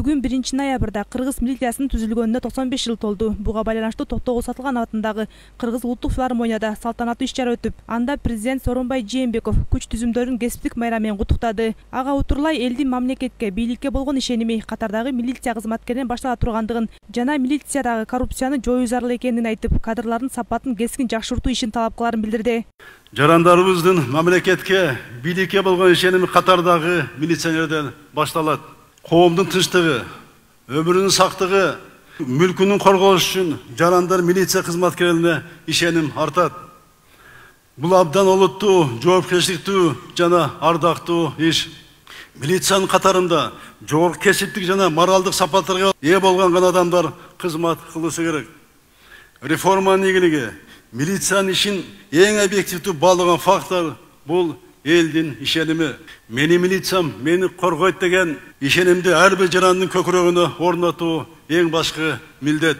Бүгүн 1-ноябрда кыргыз милициясынын түзүлгөнүнө 95 жыл толду. Буга байланыштуу Токтогул Сатылган атындагы Кыргыз улуттук филармонияда салтанаттуу иш-чара өтүп, анда президент Сооронбай Жээнбеков күч түзүмдөрүн кесиптик майрам менен куттуктады. Ага утурлай элдин мамлекетке, бийликке болгон ишеними катардагы милиция кызматкеринен баштала тургандыгын жана милициядагы коррупцияны жоюу зарыл экенин айтып, кадрлардын сапатын кескин жакшыртуу ишин талап кыларын билдирди. Жарандарыбыздын мамлекетке, бийликке болгон ишеними катардагы милиционерден башталат. Коомдун тынчтыгы, өмүрүнүн сактыгы, мүлкүнүн корголушу үчүн жарандар милиция кызматкерлерине ишеним артат. Бул абдан олуттуу, жоопкерчиликтүү жана ардактуу иш. Милициянын катарында жогорку кесиптик жана моралдык сапаттарга ээ болгон адамдар кызмат кылышы керек. Реформанын ийгилиги милициянын ишин эң объективдүү баалаган фактор бул элдин ишеними. Мени милициям мени коргойт деген ишенимди ар бир жарандын көкүрөгүнө орнотуу эң башкы милдет.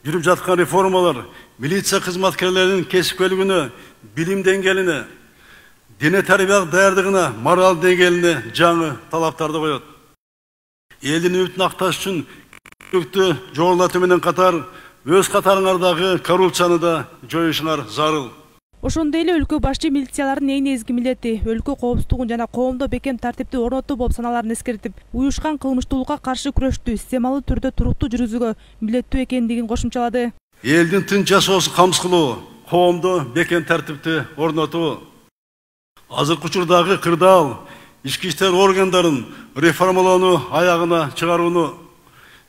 Жүрүп жаткан реформалар милиция кызматкерлеринин кесипкөйлүгүнө, билим деңгээлине, дене тарбиялык даярдыгына, морал деңгээлине жаңы талаптарды коет. Элдин үмүтүн акташ үчүн күчтүү жогорулатуу менен катар өз катарыңардагы коррупцияны да жоюшуңар зарыл. Ошондой эле өлкө башчы милициялардын эң негизги милдети өлкө коопсуздугун жана коомдо бекем тартипти орнотуу болуп саналарын эскертип, уюшкан кылмыштуулукка каршы күрөштү системалуу түрдө туруктуу жүргүзүүгө милдеттүү экендигин кошумчалады. Элдин тынч жашоосун камсыз кылуу, коомдо бекем тартипти орнотуу, азыркы учурдагы кырдаал ички иштер органдарын реформалоону аягына чыгарууну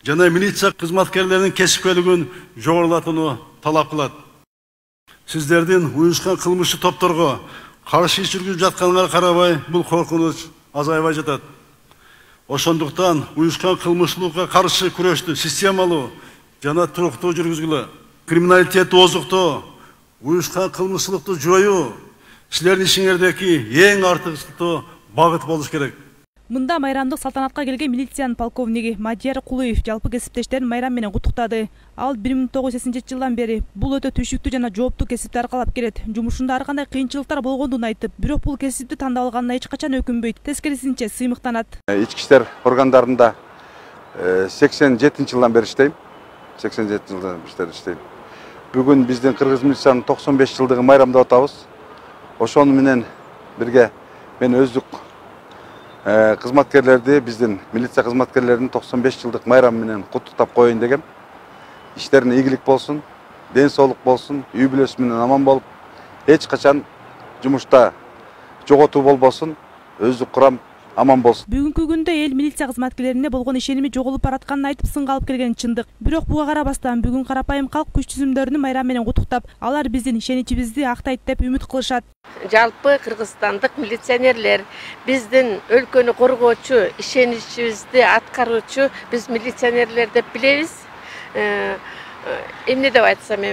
жана милиция кызматкерлеринин кесипкөйлүгүн жогорулатууну талап кылат. Сиздердин уюшкан кылмыштуу топторго каршы иш жүргүзүп жатканыңарга карабай, бул коркунуч азайбай жатат. Ошондуктан уюшкан кылмыштуулукка каршы күрөштү системалуу жана туруктуу жүргүзгүлө. Криминалитетти озуктоо, уюшкан кылмыштуулукту жоюу силердин ишиңердеги эң артыкчылыктуу багыт болуш керек. Мында майрамдык салтанатка келген милициянын полковниги Мадияр Кулуев жалпы кесиптештерин майрам менен куттуктады. Ал 1980-жылдан бери бул өтө түшүктүү жана жооптуу кесипти аркалап келет. Жумушунда ар кандай кыйынчылыктар болгондугун айтып, бирок бул кесипти тандап алганына эч качан өкүнбөйт, тескерисинче сыймыктанат. Ички иштер органдарында 87-жылдан бери иштейм. 87 жылдан бери иштейм. Бүгүн биздин кыргыз милициянын 95 жылдыгын майрамдап атабыз. Ошону менен бирге мен өздүк кызматкерлерди, биздин милиция кызматкерлеринин 95 жылдык майрамы менен куттуктап коеюн дегем. Иштерине ийгилик болсун, ден соолук болсун, үй бүлөсү менен аман болуп, эч качан жумушта жоготуу болбосун, өздүк курам аман болсун. Бүгүнкү күндө эл милиция кызматкерлерине болгон ишеними жоголуп баратканын айтып сынга алып келген чындык. Бирок буга карабастан бүгүн карапайым калк күч түзүмдөрүнүн майрам менен куттуктап, алар биздин ишеничибизди актайт деп үмүт кылышат. Жалпы кыргызстандык милиционерлер биздин өлкөнү коргоочу, ишеничибизди аткаруучу биз милиционерлер деп билебиз. Эмне деп айтсам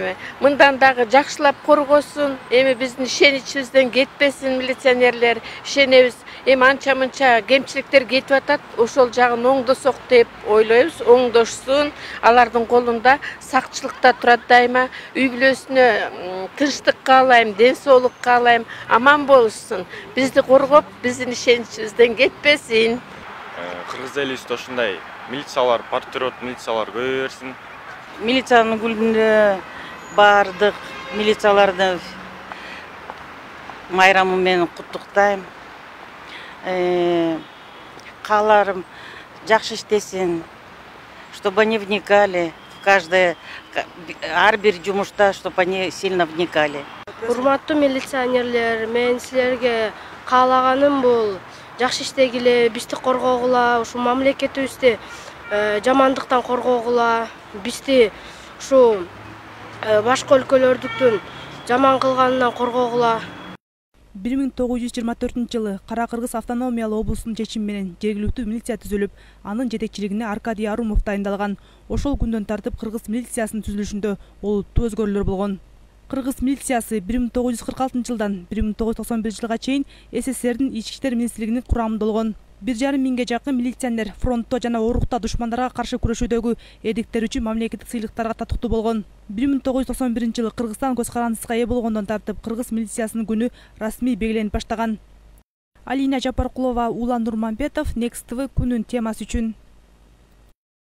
мындан дагы жакшылап коргосун, биздин ишеничибизден кетпесин милиционерлер, ишенебиз. Анча-мынча кемчиликтер кетип атат, ошол жагын оңдосок деп ойлойбуз, оңдошсун. Алардын колунда сакчылыкта турат дайыма. Үй бүлөсүнө тынчтык каалайм, ден соолук каалайм, аман болушсун. Бизди коргоп, биздин ишеничибизден кетпесин. Кыргыз элибизде ушундай милициялар, патриот милициялар көбөйө берсин. Милициянын күнүндө бардык милицияларды майрамы менен куттуктайм. Кааларым жакшы иштесин, чтобы они вникали в каждое, ар бир жумушта, чтобы они сильно вникали. Урматтуу милиционерлер, мен силерге каалаганым бул жакшы иштегиле, бизди коргогула, ушу мамлекетибизди жамандыктан коргогула, бизди ушу башка өлкөлөрдүктүн жаман кылганынан коргогула. 1924-жылы Кара Кыргыз автономиялуу облусунун чечими менен жергиликтүү милиция түзүлүп, анын жетекчилигине Аркадий Арумов дайындалган. Ошол күндөн тартып кыргыз милициясынын түзүлүшүндө олуттуу өзгөрүүлөр болгон. Кыргыз милициясы 1946-жылдан 1991 жылга чейин СССРдин Ички иштер министрлигинин курамында болгон. 1,5 миңге жакын милиционер фронтто жана орукта душмандарга каршы күрөшүүдөгү эрдиктер үчүн мамлекеттик сыйлыктарга татыктуу болгон. 1991-жылы Кыргызстан көз карандысына ээ болгондон тартып кыргыз милициясынын күнү расмий белгиленип баштаган. Алина Жапаркулова, Улан Нурманбетов, Next TV күнүн темасы үчүн.